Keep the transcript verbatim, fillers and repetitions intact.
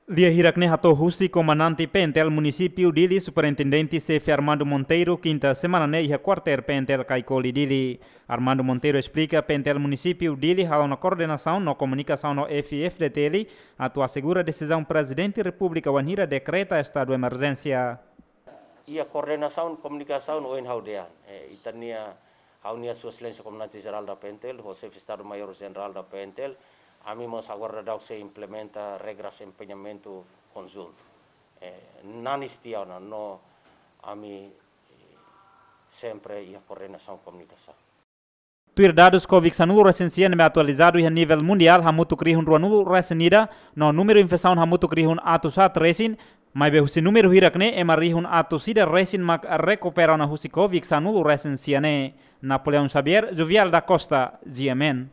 Lia hirak ne'e hato'o husi Komandante P N T L Munisípiu Dili, Superintendente Xefe Armando Monteiro, kinta semana ne'e iha kuartél P N T L Caicoli Dili. Armando Monteiro esplika, P N T L Munisípiu Dili hala'o ona koordenasaun no komunikasaun ho F I F D T L atu asegura desizaun Prezidente Repúblika wainhira dekreta estadu emerjénsia. Iha koordenasaun, komunikasaun ohin ha'u dehan. Eh, ita-nia, ha'u-nia Sua Exelénsia Komandante Jerál da P N T L, ho Xefe Estadu Maiór Jenerál da P N T L, ami mós agora daudaun sei implementa regras empeñamentu konjuntu. Eh, nanis tiha ona no ami, eh, sempre iha koordenasaun, komunikasaun. Tuir dadus, Covid sanulu resin sia ne'ebé atualizadu iha nivel mundiál hamutuk rihun ruanulu resin ida, no númeru infesaun hamutuk rihun atus haat resin, maibé husi númeru hirak ne'e ema rihun atus ida resin mak rekupera ona husi Covid sanulu resin sia ne'e. Napoleão Xavier, Jovial da Costa, G M N.